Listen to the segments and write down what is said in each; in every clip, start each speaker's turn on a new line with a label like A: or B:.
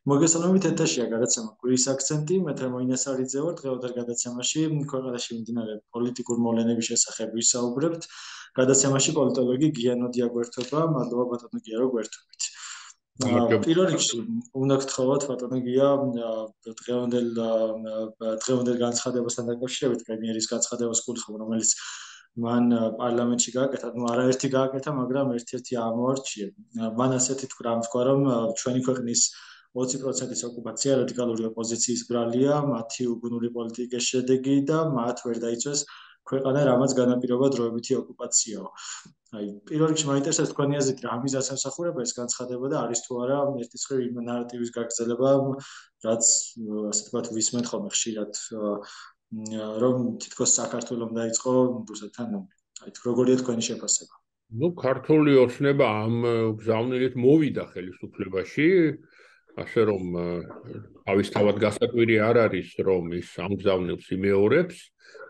A: მოგესალმებით ეთერშია გადაცემა კვირის აქცენტი, მე თემოინე სარიძე ვარ. დღევანდელ გადაცემაში ქვეყანაში მიმდინარე პოლიტიკურ მოვლენების შესახებ ვისაუბრებთ. გადაცემაში პოლიტოლოგი გია ნოდია გვერდდება. მადლობა ბატონო გია, რომ გვერდებით. პირველ რიგში უნდა გთხოვოთ ბატონო გია დღევანდელ განცხადებასთან დაკავშირებით, პრემიერის განცხადებას გულისხმობ, რომელიც მან პარლამენტში გააკეთა, არაერთი გააკეთა, მაგრამ ერთ-ერთი ამოარჩია. მან ასეთი თქვა, რომ ჩვენი ქვეყნის 20%-ის ოკუპაცია რადიკალური ოპოზიციის ბრალია, მათი უგუნური პოლიტიკის შედეგი და მათ ვერ დაიცვეს ქვეყანა, რამაც განაპირობა დროებითი ოკუპაციაო. პირველ რიგში მაინტერესებს თქვენი აზრით, რა მიზანს ემსახურება ეს განცხადება და არის თუ არა ერთის მხრივ იმ ნარატივის გაგრძელება, რაც ასე ვთქვათ, ვისმენთ ხოლმე ხშირად, რომ თითქოს საქართველოს დაიწყო რუსეთთან ომი. როგორია თქვენი შეფასება?
B: ქართული ოცნება ამ გზავნილით მოვიდა ხელისუფლებაში, ასე რომ თავისთავად გასაკვირი არ არის, რომ ის ამ გზავნილს იმეორებს.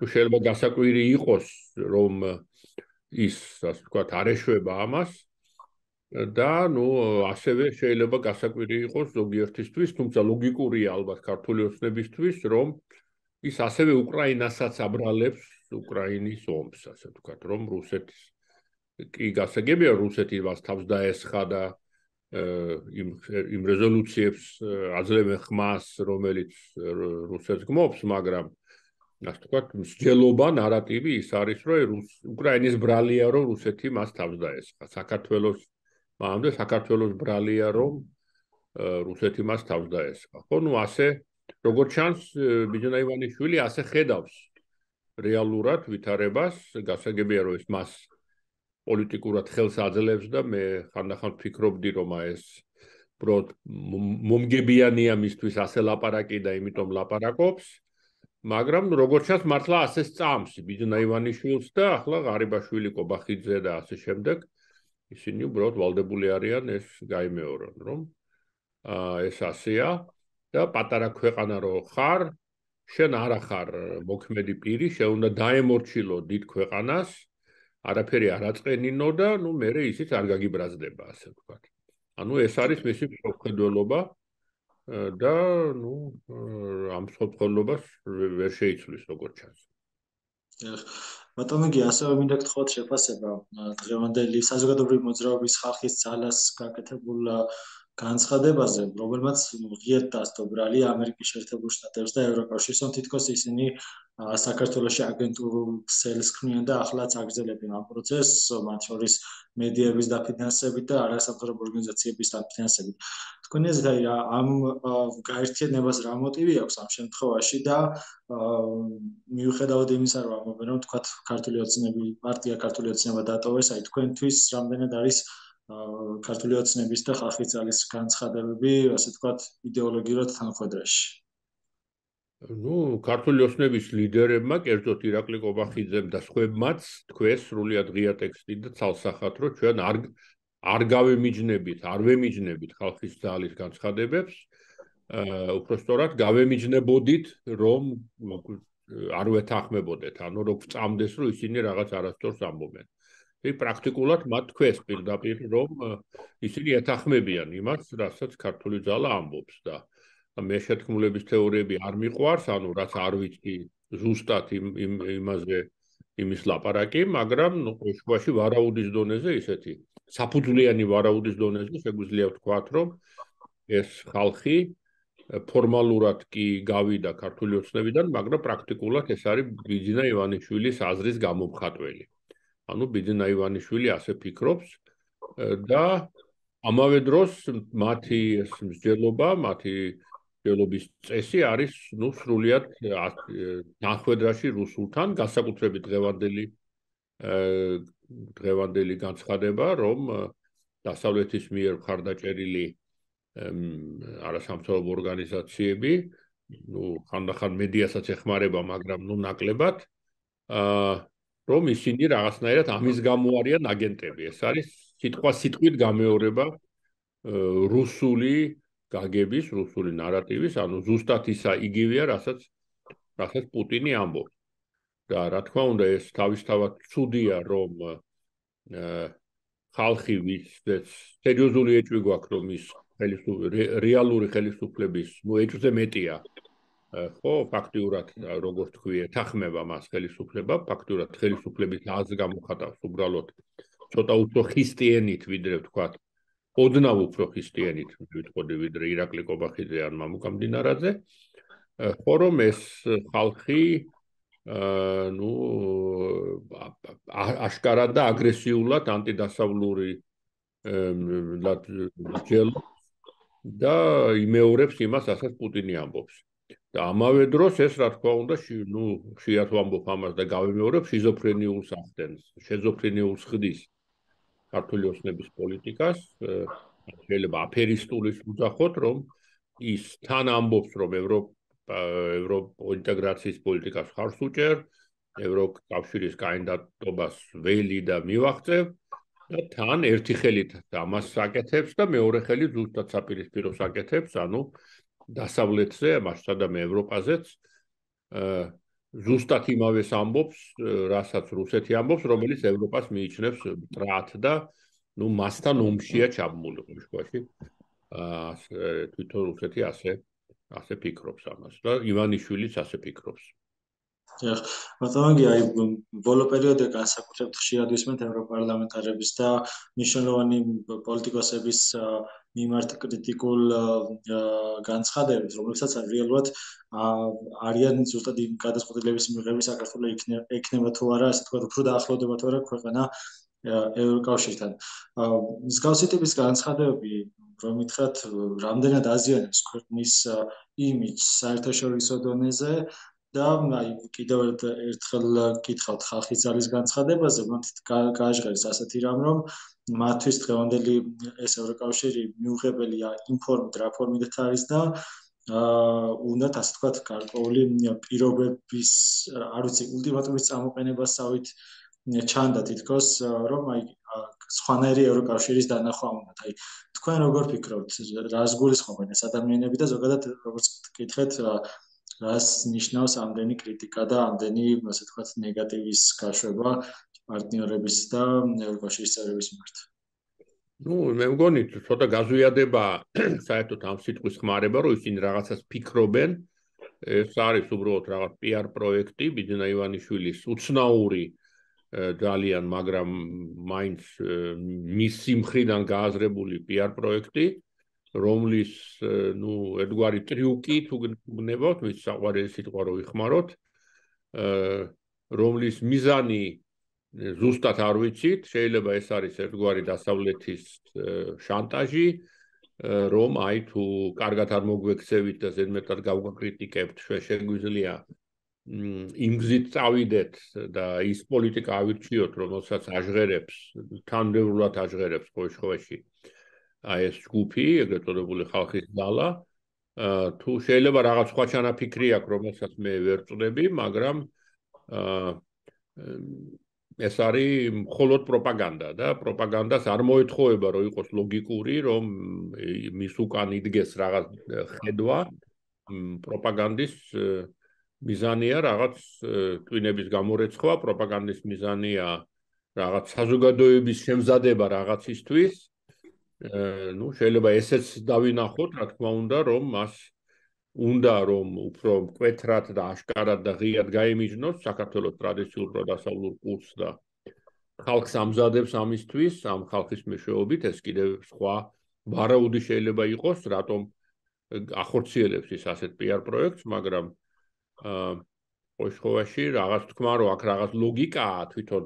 B: შეიძლება გასაკვირი იყოს, რომ ის, ასე ვთქვათ, არ ეშვება ამას და ასევე შეიძლება გასაკვირი იყოს ზოგიერთისთვის, თუმცა ლოგიკურია ალბათ ქართული ოცნებისთვის, რომ ის ასევე უკრაინასაც აბრალებს უკრაინის ომს, ასე ვთქვათ, რომ რუსეთის კი გასაგებია, რუსეთი მას თავს დაესხა და იმ რეზოლუციებს აძლევენ ხმას, რომელიც რუსეთს გმობს, მაგრამ ასე ვთქვათ, მსჯელობა, ნარატივი ის არის, რომ უკრაინის ბრალია, რომ რუსეთი მას თავს დაესხა. საქართველოს ბრალია, რომ რუსეთი მას თავს დაესხა. ხო, ასე როგორც ჩანს, ბიძინა ივანიშვილი ასე ხედავს რეალურად ვითარებას, გასაგებია, რომ ეს მას პოლიტიკურად ხელს აძლევს და მე ხანდახან ვფიქრობდი, რომ ეს უბრალოდ მომგებიანია მისთვის ასე ლაპარაკი და იმიტომ ლაპარაკობს, მაგრამ როგორც ჩანს, მართლა ასე სწამს ბიძინა ივანიშვილს და ახლა ღარიბაშვილი, კობახიძე და ასე შემდეგ, ისინი უბრალოდ ვალდებული არიან ეს გაიმეორონ, რომ ეს ასეა და პატარა ქვეყანა რო ხარ, შენ არ ახარ მოქმედი პირი, შენ უნდა დაემორჩილო დიდ ქვეყანას, არაფერი არ აწყენინო და მერე ისიც არ გაგიბრაზდება, ასე ვთქვათ. ეს არის მისი მსოფლმხედველობა და ამ მსოფლმხედველობას ვერ შეიცვლის, როგორც ჩანს.
A: ბატონო გია, ასევე მინდა გთხოვოთ შეფასება დღევანდელი საზოგადოებრივი მოძრაობის ხალხის ძალას გაკეთებულ განცხადებაზე, რომელმაც ღიად დასდო ბრალი ამერიკის შეერთებულ შტატებს და ევროკავშირს, რომ თითქოს ისინი საქართველოში აგენტურულ ქსელს ქმნიან და ახლაც აგრძელებენ ამ პროცესს, მათ შორის მედიების დაფინანსებით და არასამთავრობო ორგანიზაციების დაფინანსებით. თქვენი აზრით, ამ გაერთიანებას რა მოტივი აქვს ამ შემთხვევაში და მიუხედავად იმისა, რომ ამბობენ, რომ თქვათ ქართული ოცნების პარტია ქართული ოცნება დატოვეს, თქვენთვის რამდენად არის ქართული ოცნების და ხალხის ძალის განცხადებები, ასე ვთქვათ, იდეოლოგიურად თანახვედრაში?
B: ქართული ოცნების ლიდერებმა, კერძოდ ირაკლი კობახიძემ და სხვებმაც თქვეს სრულიად ღია ტექსტით და ცალსახად, რომ ჩვენ არ ვემიჯნებით ხალხის ძალის განცხადებებს, უпростоრად გავემიჯნებოდით, რომ არ ვეთანხმებოდეთ, რომ წამდეს, რომ ისინი რაღაც არასწორს ამბობენ. პრაქტიკულად მათ თქვეს პირდაპირ, რომ ისინი ეთანხმებიან იმას, რასაც ქართული ძალა ამბობს და მე შეთქმულების თეორიები არ მიყვარს, რაც არ ვიცი ზუსტად იმის ლაპარაკი, მაგრამ ყოველშვაში ვარაუდის დონეზე ისეთი საფუძვლიანი ვარაუდის დონეზე შეგვიძლია ვთქვათ, რომ ეს ხალხი ფორმალურად კი გავიდა ქართული ოცნებიდან, მაგრამ პრაქტიკულად ეს არის ბიძინა ივანიშვილის აზრის გამომხატველი. ბიძინა ივანიშვილი ასე ფიქრობს და ამავე დროს მათი ეს მსჯელობა, მათი მსჯელობის წესი არის სრულიად თანახვედრაში რუსულთან, განსაკუთრებით დღევანდელი განცხადება, რომ დასავლეთის მიერ მხარდაჭერილი არასამთავრობო ორგანიზაციები, ხანდახან მედიასაც ეხმარება, მაგრამ ნაკლებად, რომ ისინი რაღაცნაირად ამის გამო არიან აგენტები. ეს არის სიტყვით გამეორება რუსული გაგების, რუსული ნარატივის, ზუსტად იგივეა, რასაც პუტინი ამბობს. და რა თქმა უნდა, ეს თავისთავად ცუდია, რომ ხალხი, ვისაც სერიოზული ეჭვი გვაქვს, რომ ის რეალური ხელისუფლების ეჭვზე მეტია. ხო, ფაქტიურად როგორც თქვი, ეთანხმება მას ხელისუფლება, ფაქტიურად ხელისუფლების აზრს გამოხატავს უბრალოდ ცოტა უფრო ხისტიენით, ვიდრე ვთქვათ, ოდნავ უფრო ხისტიენით, ვიტყოდი, ვიდრე ირაკლი კობახიძე ან მამუკა მდინარაძე. ხო, რომ ეს ხალხი ну აშკარად და აგრესიულად ანტიდასავლური ჯელობს და იმეორებს იმას, რასაც პუტინი ამბობს. და ამავე დროს ეს რა თქმა უნდა, ხშირად ვამბობ ამას და გავიმეორებ, შიზოფრენიულს ახდენს, შეზოფრენიულს ხდის ქართული ოცნების პოლიტიკას, შეიძლება აფერისტულის უძახოთ, რომ ის თან ამბობს, რომ ევროინტეგრაციის პოლიტიკას ხარს უჭერ, ევროკავშირის კანდიდატობას ველი და მივაღწევ და თან ერთი ხელით ამას საკეთებს და მეორე ხელით ზუსტად საპირისპიროს აკეთებს, ანუ დასავლეთზე, მასშტაბად ევროპაზეც ზუსტად იმავეს ამბობს, რასაც რუსეთი ამბობს, რომელიც ევროპას მიიჩნევს მტრად და მასთან ომშია ჩაბმული ყოველში. თვითონ რუსეთი ასე ფიქრობს ამას და ივანიშვილიც ასე ფიქრობს.
A: ბატონო, აი ბოლო პერიოდში განსაკუთრებით ხშირად ვისმენთ ევროპარლამენტარების და მნიშვნელოვანი პოლიტიკოსების მიმართ კრიტიკულ განცხადებებს, რომლებსაც რეალურად არიან ზუსტად იმ გადაწყვეტილების მიღები საქართველოს ექნება თუ არა, ასე თქვა, უფრო დაახლოვდება თუ არა ქვეყანა ევროკავშირთან. მსგავსი ტიპის განცხადებები, რომ ითხრათ, რამდენად აზიანებს ქვეყნის იმიჯს საერთაშორისო დონეზე და აი კიდევ ერთხელ გითხავთ ხალხის ძალის განცხადებაზე, მათ გააჟღერეს ასეთი რამ, რომ მათთვის დღევანდელი ეს ევროკავშირი მიუღებელია ინფორმით რა ფორმით არის და უნდათ ასე თქვათ გარკვეული პირობების, არ ვიცი, ულტიმატუმის წამოყენებასავით ჩანდა თითქოს, რომ აი სხვანაირი ევროკავშირის დანახვა უნდათ. აი თქვენ როგორ ფიქრობთ, რას გულისხმობენ ეს ადამიანები და ზოგადად როგორც გკითხეთ, რას ნიშნავს ამდენი კრიტიკა და ამდენი, ასე ვთქვათ, ნეგატივის გაშვება პარტნიორების და ევროკავშირის წევრების მიმართ?
B: მე მგონი ცოტა გაზვიადება საერთოდ ამ სიტყვის ხმარება, რომ ისინი რაღაცას ფიქრობენ. ეს არის უბრალოდ რაღაც PR პროექტი, ბიძინა ივანიშვილის უცნაური ძალიან, მაგრამ მაინც მისი მხრიდან გააზრებული PR პროექტი, რომლის ერთგვარი ტრიუკი თუ გნებავთ, მის საყვარელი სიტყვა რო ვიხმაროთ, რომლის მიზანი ზუსტად არ ვიცით, შეიძლება ეს არის ერთგვარი დასავლეთის შანტაჟი, რომ აი თუ კარგად არ მოგვექცევით და ზედმეტად გავგაკრიტიკებთ, შეგვიძლია იმ გზით წავიდეთ და ის პოლიტიკა ავირჩიოთ, რომელსაც აჟღერებს, თანმიმდევრულად აჟღერებს ყოველში აი ეს ჯგუფი, ეგრეთ წოდებული ხალხის ძალა, თუ შეიძლება რაღაც სხვა ჩანაფიქრი აქვს, რომელსაც მე ვერ წდები, მაგრამ ეს არის მხოლოდ პროპაგანდა და პროპაგანდას არ მოეთხოვება, რომ იყოს ლოგიკური, რომ მის უკან იდგეს რაღაც ხედვა, პროპაგანდის მიზანია რაღაც ტვინების გამორეცხვა, პროპაგანდის მიზანია რაღაც საზოგადოების შემზადება რაღაცისთვის. შეიძლება ესეც დავინახოთ, რა თქმა უნდა, რომ მას უნდა რომ უფრო მკვეთრად და აშკარად და ღიად გაიმიჯნოს საქართველოს ტრადიციულ პროდასავლურ კურსს და ხალხს ამზადებს ამისთვის, ამ ხალხის მეშვეობით, ეს კიდევ სხვა ვარაუდი შეიძლება იყოს, რატომ ახორციელებს ის ასეთ PR პროექტს, მაგრამ ყოველში რაღაც თქმა, რომ აქ რაღაც ლოგიკაა თვითონ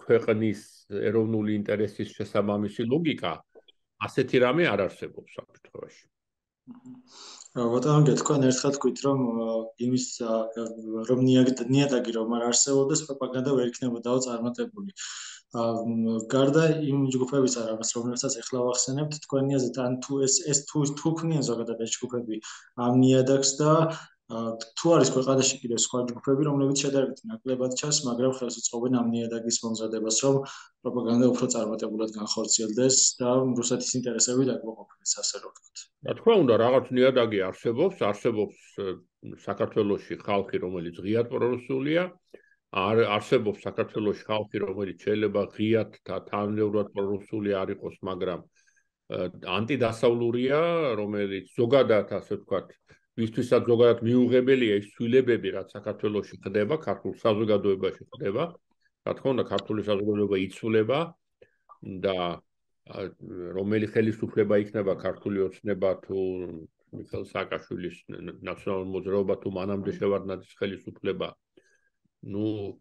B: ქვეყნის ეროვნული ინტერესის შესაბამისი ლოგიკა, ასეთი რამე არ არსებობს საქართველოში.
A: ბატონო, თქვენ ერთხელ თქვით, რომ იმის რომ ნიადაგი რომ არ არსებობდეს, პროპაგანდა ვერ იქნებოდაო წარმატებული. გარდა იმ ჯგუფების არამას, რომელსაც ეხლა ვახსენებთ, თქვენი აზრით, ან თუ ეს თუ ქმნიან ზოგადად ეს ჯგუფები ამ ნიადაგს და თუ არის ქვეყანაში კიდევ სხვა ჯგუფები, რომლებიც შედარებით ნაკლებად ჩანს, მაგრამ ხელს უწყობენ ამ ნიადაგის მომზადებას, რომ პროპაგანდა უფრო წარმატებულად განხორციელდეს და რუსეთის ინტერესები დაკმაყოფილდეს, ასე რომ ვთქვათ.
B: რა თქმა უნდა, რაღაც ნიადაგი არსებობს საქართველოში ხალხი, რომელიც ღიად პრორუსულია, არსებობს საქართველოში ხალხი, რომელიც შეიძლება ღიად და თანმიმდევრულად პრორუსული არ იყოს, მაგრამ ანტიდასავლურია, რომელიც ზოგადად ასე ვთქვათ, ვისთვისაც ზოგადად მიუღებელია ის ცვლილებები, რაც საქართველოში ხდება, ქართულ საზოგადოებაში ხდება. რა თქმა უნდა, ქართული საზოგადოება იცვლება და რომელი ხელისუფლება იქნება ქართული ოცნება თუ მიხეილ სააკაშვილის ნაციონალური მოძრაობა თუ მანამდე შევარდნაძის ხელისუფლება,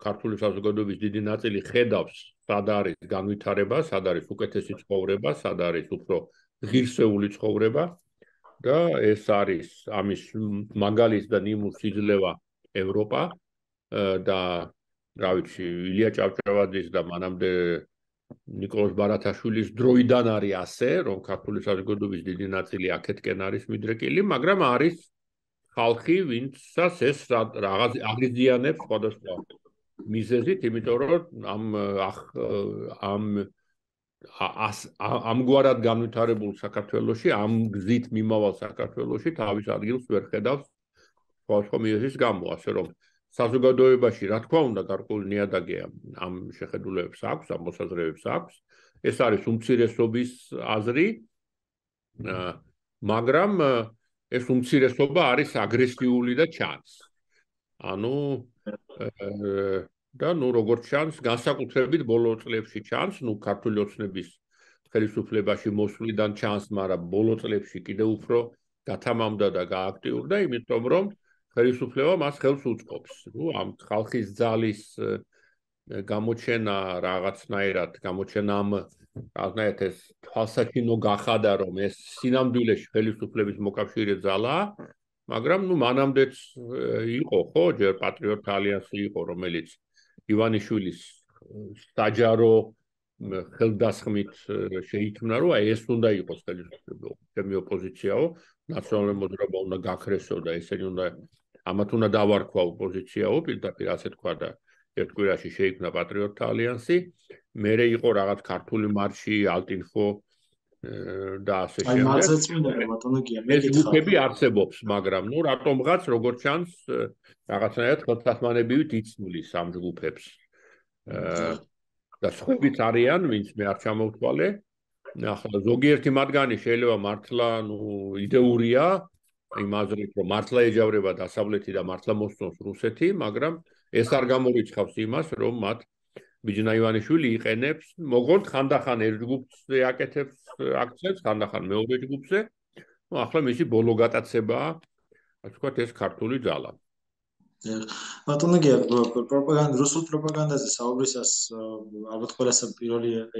B: ქართული საზოგადოების დიდი ნაწილი ხედავს, სად არის განვითარება, სად არის უკეთესი ცხოვრება, სად არის უფრო ღირსეული ცხოვრება და ეს არის ამის მაგალითი და ნიმუშს იძლევა ევროპა და რა ვიცი, ილია ჭავჭავაძის და მანამდე ნიკოლოზ ბარათაშვილის დროიდან არის ასე, რომ ქართული საზოგადოების დიდი ნაწილი აქეთკენ არის მიდრეკილი, მაგრამ არის ხალხი, ვინცაც ეს რაღაც აღიზიანებს სხვადასხვა მიზეზით, იმიტომ რომ ამგვარად განვითარებულ საქართველოში, ამ გზით მიმავალ საქართველოში თავის ადგილს ვერ ხედავს სხვადასხვა მიზეზის გამო, ასე რომ საზოგადოებაში, რა თქმა უნდა, გარკვეული ნიადაგი ამ შეხედულებებს აქვს, ამ მოსაზრებებს აქვს. ეს არის უმცირესობის აზრი, მაგრამ ეს უმცირესობა არის აგრესიული და ჩანს. ანუ და როგორც ჩანს, განსაკუთრებით ბოლო წლებში ჩანს, ქართული ოცნების ხელისუფლებაში მოსვლიდან ჩანს, მაგრამ ბოლო წლებში კიდევ უფრო გათამამდა და გააქტიურდა, იმიტომ რომ ხელისუფლება მას ხელს უწყობს. ამ ხალხის ძალის გამოჩენა რაღაცნაირად, რაღაცნაირად ეს თვალსაჩინო გახადა, რომ ეს სინამდვილეში ხელისუფლების მოკავშირე ძალაა, მაგრამ მანამდეც იყო, ხო, ჯერ პატრიოტთა ალიანსი იყო, რომელიც ივანიშვილის საჯარო ხელდასხმით შეიქმნა, რომ ეს უნდა იყოს ხელისუფლება, ჩემი ოპოზიციაო, ნაციონალური მოძრაობა უნდა გაქრესო და ესენი უნდა ამათ უნდა დავარქვა ოპოზიციაო, პირდაპირ ასე თქვა და ერთ კვირაში შეიქმნა პატრიოტთა ალიანსი, მერე იყო რაღაც ქართული მარში, ალტინფო და ასე შემდეგ.
A: აი, მათაც მინდა ბატონო გია, მე
B: ეს ჯგუფები არსებობს, მაგრამ რატომღაც როგორც ჩანს, რაღაცნაირად ხელთათმანებივით იცნულის ამ ჯგუფებს. და სხვებიც არიან, ვინც მე არ ჩამოვთვალე. ახლა ზოგიერთი მათგანი შეიძლება მართლა, იდეურია, იმ აზრით, რომ მართლა ეჯავრება დასავლეთი და მართლა მოსწონს რუსეთი, მაგრამ ეს არ გამორიცხავს იმას, რომ მათ ბიჯინა ივანიშვილი იყენებს, მოგვონთ ხანდახან ერთ ჯგუფზე აკეთებს აქცენტს, ხანდახან მეორე ჯგუფზე. ახლა მისი ბოლო გატაცებაა, ასე ვთქვათ, ეს ქართული ძალა.
A: ბატონო გია, რუსულ პროპაგანდაზე საუბრისას ალბათ ყველაზე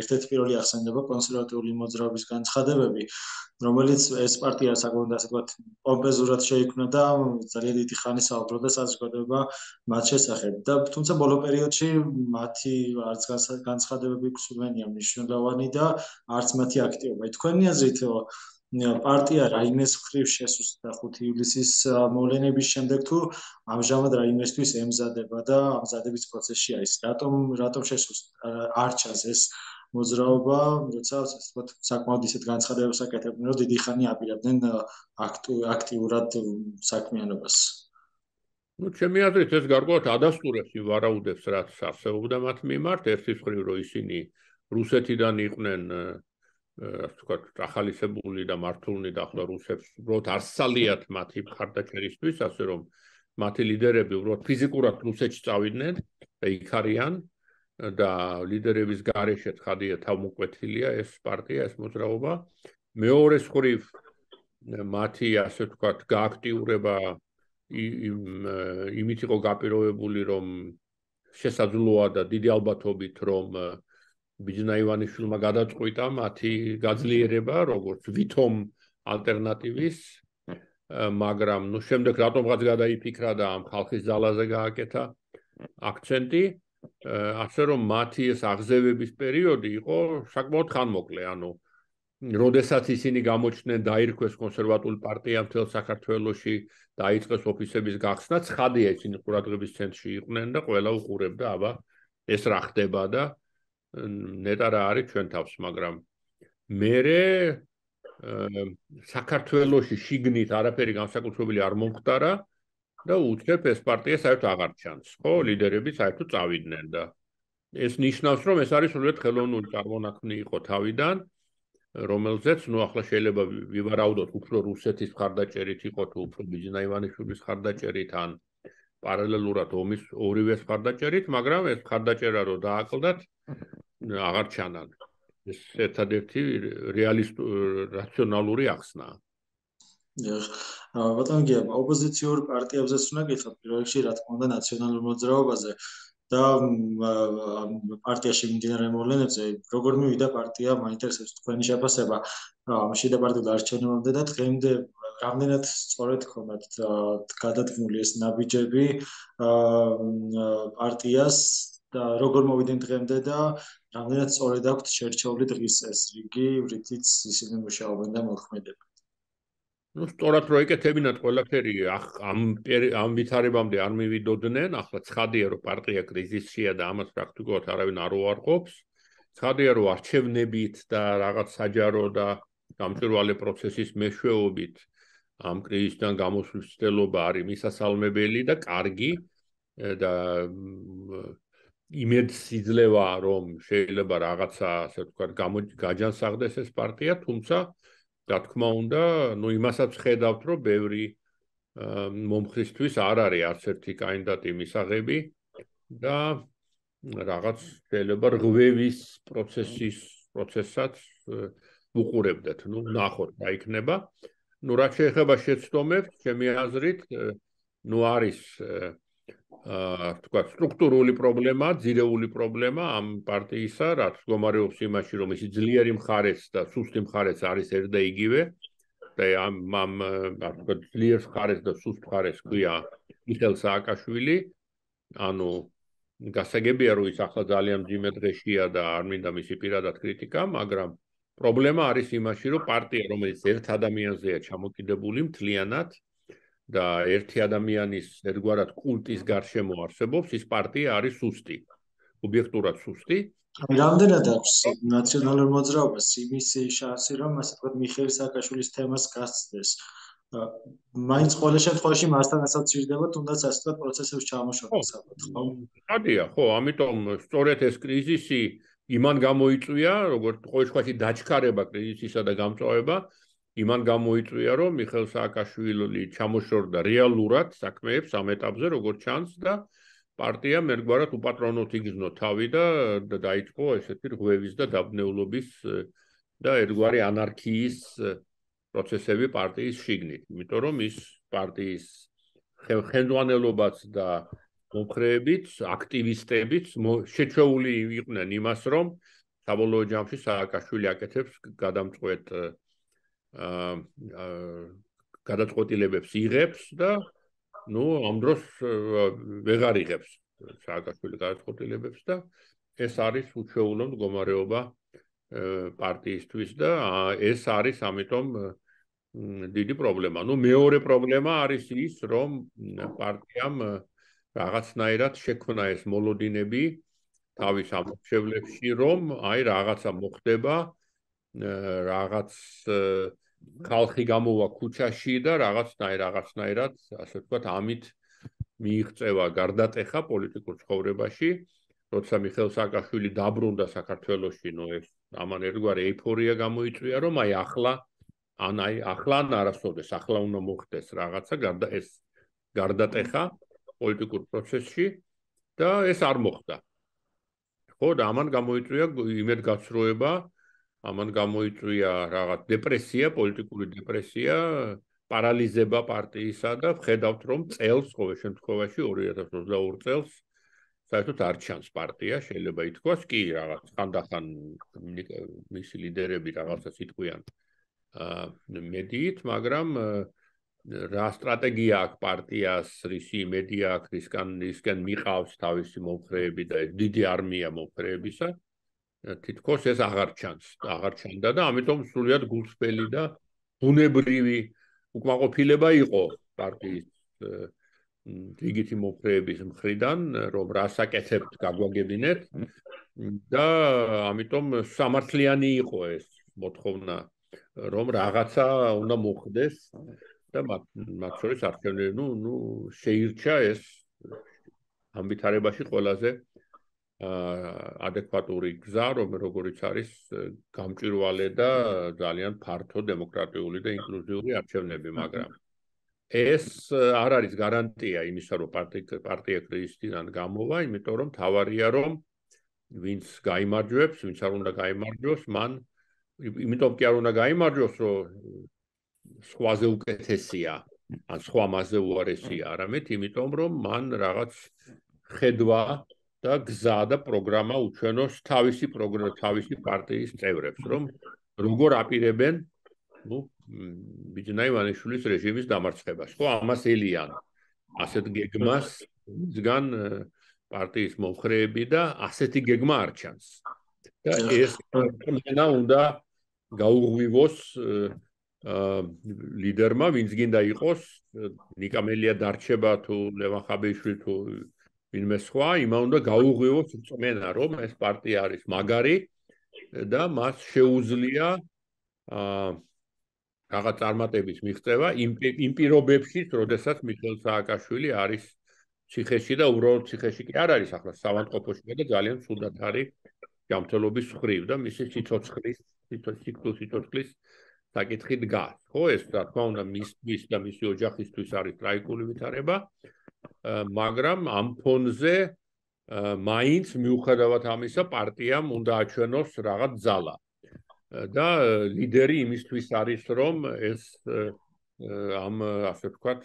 A: ერთ-ერთი პირველი ახსენდება კონსერვატიული მოძრაობის განცხადებები, რომელიც ეს პარტია საკუთარ ასე ვთქვათ პომპეზურად შეიქმნა და ძალიან დიდი ხანი საუბრობდა საზოგადოება მათ შესახებ. და თუმცა ბოლო პერიოდში მათი არც განცხადებები გსურვენია მნიშვნელოვანი და არც მათი აქტივობა. თქვენი აზრით პარტია რაიმეს მხრივ შესუსტდა 5 ივლისის მოვლენების შემდეგ თუ ამჟამად რაიმესთვის ემზადება და ამზადების პროცესში არის. რატომ შესუსტდა არ ჩანს ეს მოძრაობა, როცა ასე ვთქვათ, საკმაოდ ისეთ განცხადებებს აკეთებდნენ, რომ დიდი ხანი აპირებდნენ აქტიურად საქმიანობას.
B: ჩემი აზრით ეს გარკვეულად ადასტურებს იმ ვარაუდებს, რაც არსებობდა მათ მიმართ, ერთის მხრივ, რომ ისინი რუსეთიდან იყვნენ ასე ვთქვათ, ახალისებული და მართულნი და ახლა რუსებს უბრალოდ არ სძალიათ მათი მხარდაჭერისთვის, ასე რომ მათი ლიდერები უბრალოდ ფიზიკურად რუსეთში წავიდნენ და იქ არიან და ლიდერების გარეშე ცხადია თავმოკვეთილია ეს პარტია, ეს მოძრაობა. მეორეს მხრივ მათი ასე ვთქვათ, გააქტიურება იმით იყო გაპირობებული, რომ შესაძლოა და დიდი ალბათობით, რომ ბიჯინა ივანიშვილმა გადაწყვიტა მათი გაძლიერება, როგორც ვითომ ალტერნატივის, მაგრამ შემდეგ რატომღაც გადაიფიქრა და ამ ხალხის ძალაზე გააკეთა აქცენტი, ასე რომ მათი ეს აღზევების პერიოდი იყო საკმაოდ ხანმოკლე, ანუ როდესაც ისინი გამოჩნდნენ, დაირქვეს კონსერვატული პარტია მთელ საქართველოში, დაიწყეს ოფისების გახსნა, ცხადია ისინი ყურადღების ცენტრში იყვნენ და ყველა უყურებდა, აბა ეს რა ხდება და ნეტა რა არის ჩვენ თავს, მაგრამ მერე საქართველოში შიგნით არაფერი განსაკუთრებული არ მომხდარა და უცებ ეს პარტია საერთოდ აღარ ჩანს, ხო, ლიდერები საერთოდ წავიდნენ და ეს ნიშნავს, რომ ეს არის სრულიად ხელოვნური წარმონაქმნი იყო თავიდან რომელზეც ახლა შეიძლება ვივარაუდოთ უფრო რუსეთის მხარდაჭერით იყო თუ უფრო ბიჯინა ივანიშვილის მხარდაჭერით ან პარალელურად ომის ორივე მხარდაჭერით, მაგრამ ეს მხარდაჭერა რო დააკლდათ, აღარ ჩანან. ეს ერთადერთი რაციონალური ახსნაა.
A: ბატონო გია, ოპოზიციურ პარტიებზეც უნდა გითხრათ, პირველ რიგში რა თქმა უნდა ნაციონალურ მოძრაობაზე და პარტიაში მიმდინარე მოვლენებზე, როგორ მივიდა პარტია, მაინტერესებს თქვენი შეფასება ამაში და პარტიულ არჩევნებამდე და დღემდე რამდენად სწორედ ხონდათ გადადგმული ეს ნაბიჯები პარტიას და როგორ მოვიდნენ დღემდე და რამდენად სწორედ აქვთ შერჩეული დღის ეს რიგი, რითიც ისინი მუშაობენ და მოქმედებენ.
B: Ну, სწორად რო ეკეთებინათ ყველაფერი ამ ვითარებამდე არ მივიდოდნენ, ახლა ცხადია რომ პარტია კრიზისშია და ამას პრაქტიკულად არავინ არ უარყოფს. ცხადია რომ არჩევნებით და რაღაც საჯარო და გამჭვირვალე პროცესის მეშვეობით ამ კრიზისიდან გამოსვლის ცდილობა არის მისასალმებელი და კარგი და იმედს იძლევა რომ შეიძლება რაღაცა ასე ვთქვათ გაჯანსაღდეს ეს პარტია, თუმცა რა თქმა უნდა, იმასაც ხედავთ, რომ ბევრი მომხრისთვის არ არის არც ერთი კანდიდატი მისაღები და რაღაც შეიძლება რღვევის პროცესსაც უყურებდეთ. ნახოთ რა იქნება. რაც შეეხება შეცდომებს, ჩემი აზრით, არის თქვათ სტრუქტურული პრობლემა, ძირეული პრობლემა ამ პარტიისა, რაც მდგომარეობს იმაში, რომ ისი ძლიერი მხარეც და სუსტი მხარეც არის ერთ და იგივე. და ამ თქვათ ძლიერ მხარეს და სუსტ მხარეს ქვია მიხეილ სააკაშვილი. ანუ გასაგებია, რომ ის ახლა ძალიან მძიმე დღეშია და არ მინდა მისი პირადად კრიტიკა, მაგრამ პრობლემა არის იმაში, რომ პარტია, რომელიც ერთ ადამიანზეა ჩამოკიდებული მთლიანად და ერთი ადამიანის ერთგვარად კულტის გარშემო არსებობს, ის პარტია არის სუსტი, ობიექტურად სუსტი.
A: რამდენად აქვს ნაციონალურ მოძრაობას იმის შანსი, რომ ასე ვთქვათ მიხეილ სააკაშვილის თემას გასცდეს? მაინც ყოველ შემთხვევაში მასთან ასოცირდება, თუნდაც ასე ვთქვათ პროცესებში ჩამოშორება საკითხი, ხო?
B: ხადია, ხო, ამიტომ სწორედ ეს კრიზისი იმან გამოიწვია, როგორც ყოველ შემთხვევაში დაჩქარება კრიზისისა და გამწვავება იმან გამოიწვია, რომ მიხეილ სააკაშვილი ჩამოშორდა რეალურად საქმეებს ამ ეტაპზე, როგორც ჩანს და პარტიამ ერთგვარად უპატრონოდ იგრძნო თავი და დაიწყო ესეთი რღვევის და დაბნეულობის და ერთგვარი ანარქიის პროცესები პარტიის შიგნით. იმიტომ რომ ის პარტიის ხელმძღვანელობაც და მომხრეებიც, აქტივისტებიც შეჩეული იყვნენ იმას, რომ საბოლოო ჯამში სააკაშვილი აკეთებს გადამწყვეტ გადაწყვეტილებებს იღებს და ამ დროს ვეღარ იღებს სააკაშვილი გადაწყვეტილებებს და ეს არის უჩვეულო მდგომარეობა პარტიისთვის და ეს არის ამიტომ დიდი პრობლემა. მეორე პრობლემა არის ის, რომ პარტიამ რაღაცნაირად შექმნა ეს მოლოდინები თავის ამორჩევლებში, რომ რაღაცა მოხდება, რაღაც ხალხი გამოვა ქუჩაში და რაღაცნაირად, ასე ვთქვათ, ამით მიიღწევა გარდატეხა პოლიტიკურ ცხოვრებაში. როცა მიხეილ სააკაშვილი დაბრუნდა საქართველოში, ეს ამან ერთგვარი ეიფორია გამოიწვია, რომ ახლა არასოდეს, ახლა უნდა მოხდეს რაღაცა ეს გარდატეხა პოლიტიკურ პროცესში და ეს არ მოხდა. ხო, და ამან გამოიწვია იმედგაცრუება, ამან გამოიწვია რაღაც დეპრესია, პოლიტიკური დეპრესია, პარალიზება პარტიისა და ვხედავთ, რომ წელს, ყოველ შემთხვევაში 2022 წელს საერთოდ არ ჩანს პარტია, შეიძლება ითქვას, კი რაღაც ხანდახან მისი ლიდერები რაღაცას იტყვიან მედიით, მაგრამ რა სტრატეგია აქვს პარტიას, რისი იმედია აქვს, რისკენ მიყავს თავისი მომხრეები და დიდი არმია მომხრეებისა, თითქოს ეს აღარ ჩანდა და ამიტომ სრულიად გულწრფელი და ბუნებრივი უკმაყოფილება იყო პარტიის რიგითი მომხრეების მხრიდან, რომ რას აკეთებთ, გაგვაგებინეთ და ამიტომ სამართლიანი იყო ეს მოთხოვნა, რომ რაღაცა უნდა მოხდეს და მათ შორის არჩევნები, შეირჩა ეს ამ ვითარებაში ყველაზე ადეკვატური გზა, როგორიც არის გამჭვირვალე და ძალიან ფართო დემოკრატიული და ინკლუზიური არჩევნები, მაგრამ ეს არ არის გარანტია იმისა, რომ პარტია კრიზისიდან გამოვა, იმიტომ რომ თავარია, რომ ვინც გაიმარჯვებს, ვინც არ უნდა გაიმარჯვოს, მან იმიტომ კი არ უნდა გაიმარჯვოს, რომ სხვაზე უკეთესია, ან სხვა მასზე უარესია, არამედ იმიტომ, რომ მან რაღაც ხედვა და გზა და პროგრამა უჩვენოს თავისი პარტიის წევრებს, რომ როგორ აპირებენ ბიჯანა ივანიშვილის რეჟიმის დამარცხებას. ხო, ამას ელიან ასეთ გეგმას მისგან პარტიის მომხრეები და ასეთი გეგმა არ ჩანს. და ეს პრობლემა უნდა გაუღვივოს ლიდერმა, ვინც გინდა იყოს, ნიკამელია დარჩება თუ ლევან ხაბეიშვილი თუ ვინმე სხვა, იმა უნდა გაუღვივოს რწმენა, რომ ეს პარტია არის მაგარი და მას შეუძლია რაღაც წარმატების მიღწევა იმ პირობებში, როდესაც მიხეილ სააკაშვილი არის ციხეში და უბრალოდ ციხეში კი არ არის ახლა საავადმყოფოში და ძალიან ცუდად არის ჯანმრთელობის მხრივ და მისი სიცოცხლის საკითხი დგას. ხო, ეს რა თქმა უნდა მისთვის და მისი ოჯახისთვის არის ტრაგიკული ვითარება, მაგრამ ამ ფონზე მაინც მიუხედავად ამისა პარტიამ უნდა აჩვენოს რაღაც ძალა. და ლიდერი იმისთვის არის, რომ ეს ამ ასე ვთქვათ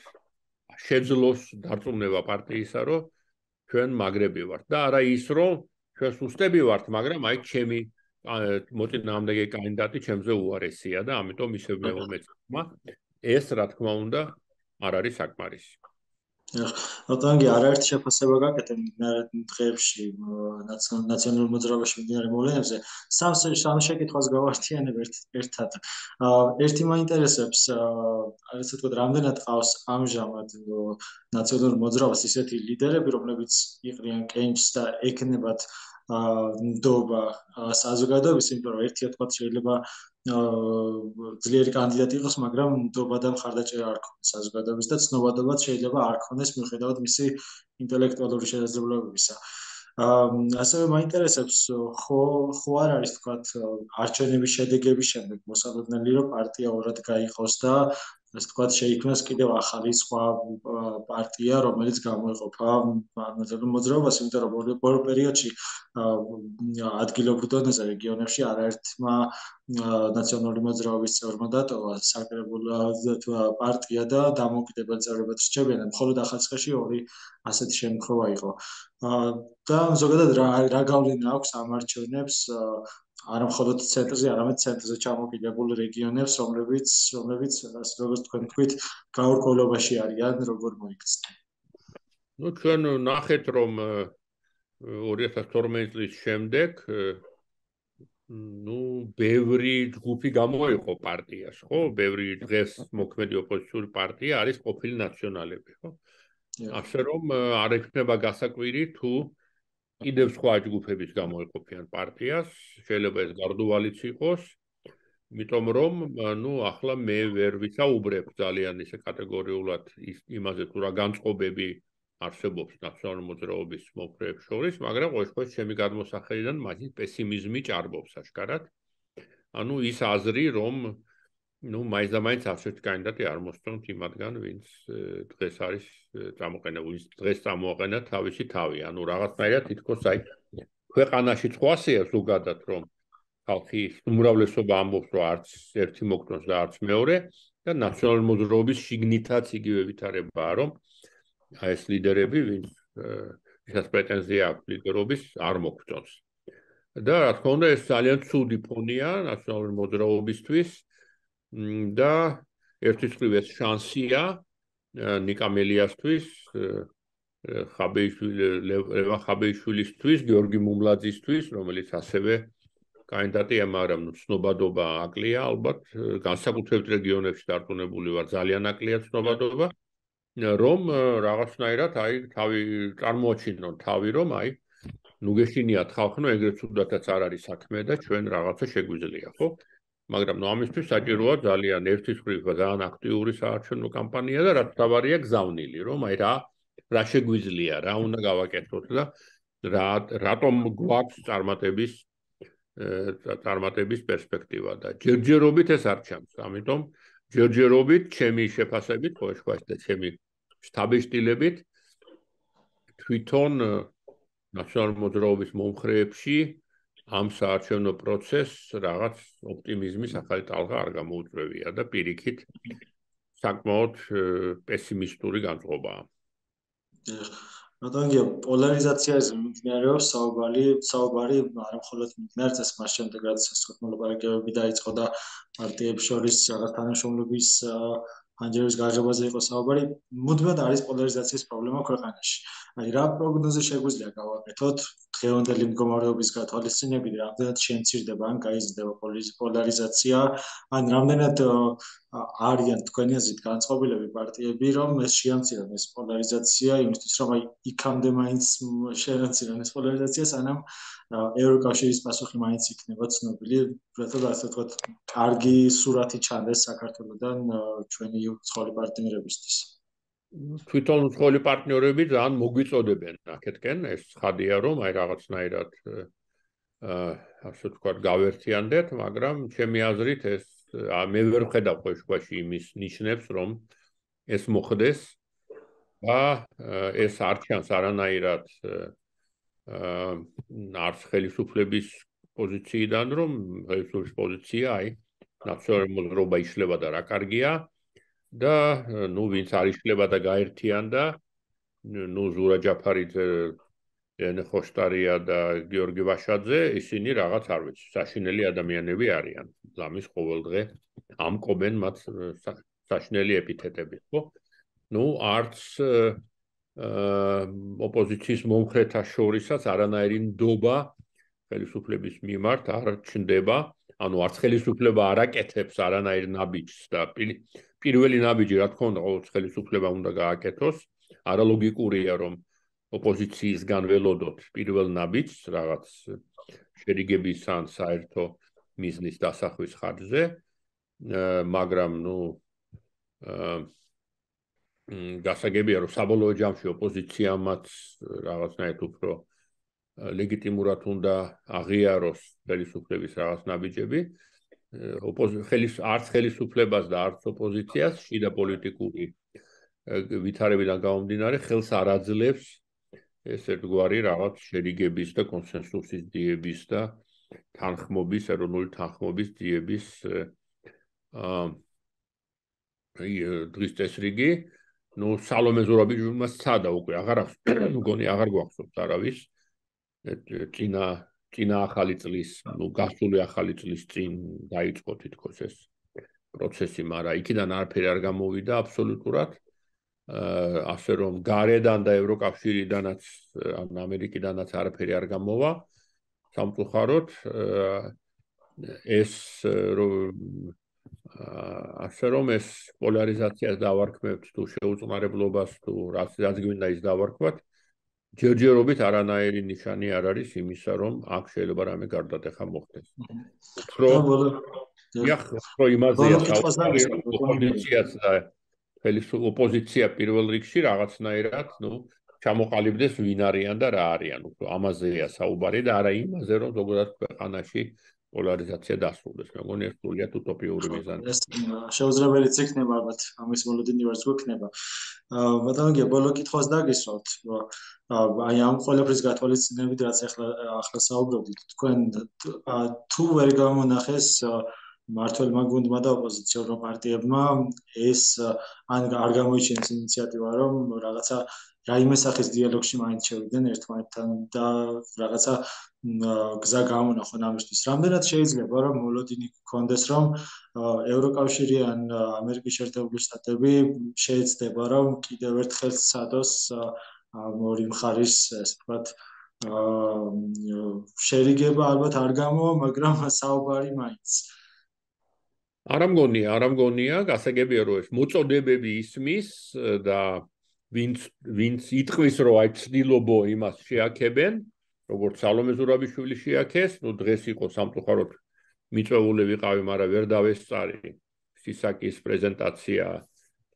B: შეძლოს დარწმუნება პარტიისა, რომ ჩვენ მაგრები ვართ და არა ის, რომ ჩვენ სუსტები ვართ, მაგრამ აი ჩემი მოწინააღმდეგე კანდიდატი ჩემზე უარესია და ამიტომ ისევ მეუბნება. ეს რა თქმა უნდა არ არის საკმარისი.
A: რატომღი არაერთი შეფასება გაკეთე დღეებში ნაციონალურ მოძრაობაში მიმდინარე მოვლენებზე. სამ შეკითხვას გავართიანებ ერთად. ერთი მაინტერესებს, ასე ვთქვათ, რამდენად ყავს ამჟამად ნაციონალურ მოძრაობას ისეთი ლიდერები, რომლებიც იყრიან კენჭს და ეკნებათ ნდობა საზოგადოების, იმიტომ რომ ერთი თქვა შეიძლება ძლიერი კანდიდატი იყოს, მაგრამ ნდობა და მხარდაჭერა არ ქონდეს საზოგადოების და ცნობადობაც შეიძლება არ ქონდეს მიუხედავად მისი ინტელექტუალური შესაძლებლობებისა. ასევე მაინტერესებს, ხო არ არის თქვათ არჩევნების შედეგების შემდეგ მოსალოდნელი, რომ პარტია ორად გაიყოს და ასე ვთქვათ შეიქმნას კიდევ ახალი სხვა პარტია, რომელიც გამოიყოფა ნაციონალურ მოძრაობას, იმიტომ რომ ბოლო პერიოდში ადგილობრივ დონეზე რეგიონებში არაერთმა ნაციონალური მოძრაობის წევრმა დატოვა საკრებულო პარტია და დამოუკიდებელ წევრებად რჩებიან, მხოლოდ ახალციხეში ორი ასეთი შემთხვევა იყო. და ზოგადად რა გავლენა აქვს ამ არჩევნებს არა მხოლოდ ცენტრზე, არამედ ცენტრზე ჩამოკიდებულ რეგიონებს, რომლებიც როგორც თქვენ თქვით, გაურკვევლობაში არიან, როგორ მოიქცნენ.
B: ჩვენ ნახეთ, რომ 2012 წლის შემდეგ ბევრი ჯგუფი გამოიყო პარტიას, ხო? ბევრი დღეს მოქმედი ოპოზიციური პარტია არის ყოფილი ნაციონალები, ხო? ასე რომ არ ექნება გასაკვირი თუ კიდევ სხვა ჯგუფების გამოეყოფიან პარტიას, შეიძლება ეს გარდუვალიც იყოს, იმიტომ რომ ახლა მე ვერ ვისაუბრებ ძალიან ისე კატეგორიულად იმაზე თუ რა განწყობები არსებობს ნაციონალურ მოძრაობის მომხრეებს შორის, მაგრამ ყოველ შემთხვევაში ჩემი გადმოსახედიდან მაგის პესიმიზმი ჭარბობს აშკარად. ის აზრი, რომ მაინც და მაინც ასეთი კანდიდატი არ მოსწონთ იმათგან, ვინც დღეს არის წამოყენებული, დღეს წამოაყენა თავისი თავი. რაღაცნაირად თითქოს აი ქვეყანაში ხვასია ზოგადად, რომ ხალხის უმრავლესობა ამბობს, რომ არც ერთი მოგწონს და არც მეორე და ნაციონალურ მოძრაობის შიგნითაც იგივე ვითარებაა, რომ ეს ლიდერები, ვისაც პრეტენზია აქვს ლიდერობის, არ მოგწონს. და რა თქმა უნდა, ეს ძალიან ცუდი ფონია ნაციონალური მოძრაობისთვის და ერთის მხრივ ეს შანსია ნიკამელიასთვის, ლევან ხაბეიშვილისთვის, გიორგი მუმლაძისთვის, რომელიც ასევე კანდიდატია, მაგრამ ცნობადობა აკლია, ალბათ განსაკუთრებით რეგიონებში დარწმუნებული ვარ, ძალიან აკლია ცნობადობა, რომ რაღაცნაირად აი თავი წარმოაჩინონ თავი, რომ აი გეშინიათ ხალხო, ეგრეთ უდათაც არ არის საქმე და ჩვენ რაღაცა შეგვიძლია, ხო? მაგრამ ამისთვის საჭიროა ძალიან ერთის მხრივ ძალიან აქტიური საარჩევნო კამპანია და რაც თავარია გზავნილი, რომ აი რა შეგვიძლია, რა უნდა გავაკეთოთ და რატომ გვაქვს წარმატების პერსპექტივა და ჯერჯერობით ეს არ ჩანს. ამიტომ ჯერჯერობით ჩემი შეფასებით, და ჩემი შტაბის-შტილებით თვითონ ნაციონალური მოძრაობის მომხრეებში ამ საარჩევნო პროცესს რაღაც ოპტიმიზმის ახალი ტალღა არ გამოუწვევია და პირიქით საკმაოდ პესიმისტური განწყობაა.
A: რადგან პოლარიზაციაზე მიმდინარეობს საუბარი არა მხოლოდ მიმდინარეობს ეს მას შემდეგ რაც მოლაპარაკებები დაიწყო და პარტიებს შორის რაღაც თანამშრომლობის ანჯერების გაჟებაზე იყო საუბარი, მუდმივად არის პოლარიზაციის პრობლემა ქვეყანაში. აი რა პროგნოზი შეგვიძლია გავაკეთოთ დღევანდელი მდგომარეობის გათვალისწინებით, რამდენად შემცირდება ან გაიზრდება პოლარიზაცია, ან რამდენად არიან თქვენი აზრით განწყობილები პარტიები, რომ ეს შეამცირონ ეს პოლარიზაცია, იმისთვის რომ აი იქამდე მაინც შეამცირონ ეს პოლარიზაცია, სანამ ევროკავშირის პასუხი მაინც იქნება ცნობილი, რადგან ასე ვთქვათ, კარგი სურათი ჩანდეს საქართველოსთან ჩვენი უცხოელი პარტნიორებისთვის.
B: თვითონ უცხოელი პარტნიორები ძალიან მოგვიწოდებენ აქეთკენ, ეს ცხადია, რომ აი რაღაცნაირად ასე ვთქვათ, გავერთიანდეთ, მაგრამ ჩემი აზრით ეს მე ვერ ვხედავ ყოველშვაში იმის ნიშნებს, რომ ეს მოხდეს და ეს არ ჩანს არანაირად არც ხელისუფლების პოზიციიდან, რომ ხელისუფლების პოზიცია აი ნაციონალური მოძრაობა იშლება და რა კარგია და ვინც არ იშლება და გაერთიანდა, ზურა ჯაფარიძე, ენ ხოშტარია და გიორგი ვაშაძე, ისინი რაღაც არ ვიცი, საშინელი ადამიანები არიან. ლამის ყოველდღე ამკობენ მათ საშინელი ეპითეტებით, ხო? არც ოპოზიციის მომხრეთა შორისაც არანაირი ნდობა ხელისუფლების მიმართ არ ჩნდება, არც ხელისუფლება არ აკეთებს არანაირ ნაბიჯს და პირველი ნაბიჯი, რა თქმა უნდა, ყოველ ხელისუფლებამ უნდა გააკეთოს, არალოგიკურია, რომ ოპოზიციისგან ველოდოთ პირველ ნაბიჯს რაღაც შერიგების ან საერთო მიზნის დასახვის ხარჯზე, მაგრამ გასაგებია, რომ საბოლოო ჯამში ოპოზიციამაც რაღაცნაირად უფრო ლეგიტიმურად უნდა აღიაროს ხელისუფლების რაღაც ნაბიჯები. არც ხელისუფლებას და არც ოპოზიციას შიდა პოლიტიკური ვითარებიდან გამომდინარე ხელს არ აძლევს ეს ერთგვარი რაღაც შერიგების და კონსენსუსის ძიების და თანხმობის, ეროვნული თანხმობის ძიების დღის წესრიგი. სალომე ზურაბიშვილი სცადა უკვე, მგონი აღარ გვახსოვს არავის წინა ახალი წლის, გასული ახალი წლის წინ დაიწყო თითქოს ეს პროცესი, მაგრამ იქიდან არაფერი არ გამოვიდა აბსოლუტურად. ასე რომ გარედან და ევროკავშირიდანაც, ან ამერიკიდანაც არაფერი არ გამოვა. სამწუხაროდ ასე რომ ეს პოლარიზაციას დავარქმევთ თუ შეუწყნარებლობას თუ რაც გვინდა ის დავარქვათ, ჯერჯერობით არანაირი ნიშანი არ არის იმისა, რომ აქ შეიძლება რამე გარდატეხა მოხდეს. უფრო იმაზეა ოპოზიციაც და ოპოზიცია პირველ რიგში რაღაცნაირად, ჩამოყალიბდეს ვინ არიან და რა არიან, უფრო ამაზეა საუბარი და არა იმაზე, რომ ზოგადად ქვეყანაში პოლარიზაცია დასრულდეს. მე მგონი ეს სრულიად უტოპიური მიზანია.
A: ეს შეუძლებელიც იქნება ალბათ, ამის მოლოდინი ვარც გვექნება. ბატონო, ბოლო კითხვას დაგისვათ. აი ამ ყველაფრის გათვალისწინებით, რაც ახლა საუბრობდით, თქვენ თუ ვერ გამონახეს მმართველმა გუნდმა და ოპოზიციურ პარტიებმა ეს ან არ გამოიჩინეს ინიციატივა, რომ რაღაცა რაიმე სახის დიალოგში მაინც შევიდნენ ერთმანეთთან და რაღაცა გზა გამონახონ ამისთვის. რამდენად შეიძლება რომ მოლოდინი გქონდეს, რომ ევროკავშირი ან ამერიკის შეერთებული შტატები შეეცდება, რომ კიდევ ერთხელ სცადოს ორი მხარის, ასე ვთქვათ, შერიგება ალბათ არ გამოვა, მაგრამ საუბარი მაინც.
B: არ ამგონია, გასაგებია, რომ ეს მოწოდებები ისმის და ვინც იტყვის, რომ აი ცდილობო იმას შეაქებენ, როგორც სალომე ზურაბიშვილი შეაქეს, დღეს იყო სამწუხაროდ მიწვეული ვიყავი, მაგრამ ვერ დავესწარი სისაკის პრეზენტაცია,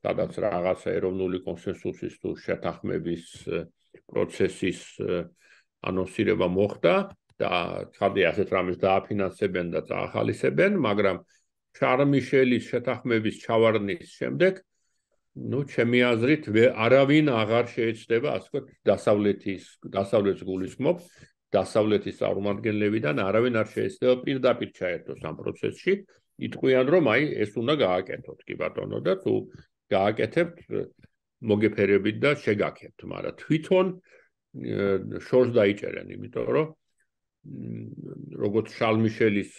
B: სადაც რაღაცა ეროვნული კონსენსუსის თუ შეთანხმების პროცესის ანონსირება მოხდა და ხარდი ასეთ რამეს დააფინანსებენ და წაახალისებენ, მაგრამ შარლ მიშელის შეთანხმების ჩავარდნის შემდეგ ჩემი აზრით არავინ აღარ შეეცდება ასე ვთქვათ დასავლეთს გულისხმობს დასავლეთის წარმომადგენლებიდან არავინ არ შეეცდება პირდაპირ ჩაერთოს ამ პროცესში იტყვიან რომ ეს უნდა გააკეთოთ კი ბატონო და თუ გააკეთებთ მოგეფერებით და შეგაქებთ მაგრამ თვითონ შორს დაიჭერენ იმიტომ რომ როგორც შარლ მიშელის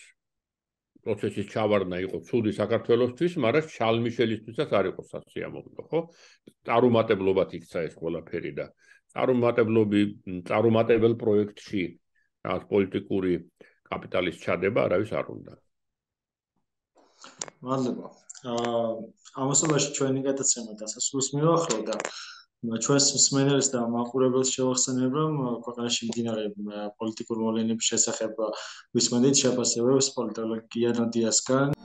B: პროცესის ჩავარდნა იყო ცუდი საქართველოსთვის, მაგრამ შარლ მიშელისთვისაც არ იყო სასიამოვნო, ხო? წარუმატებლობად იქცა ეს ყველაფერი და წარუმატებელ პროექტში რაღაც პოლიტიკური კაპიტალის ჩადება არავის არ უნდა.
A: მადლობა. ამასობაში ჩვენი გადაცემა დასასრულს მივახლო და ჩვენს მსმენელს და მაყურებელს შევახსენებ, რომ ქვეყანაში მიმდინარე პოლიტიკურ მოვლენების შესახებ ვისმენთ შეფასებებს პოლიტოლოგ გია ნოდიასგან.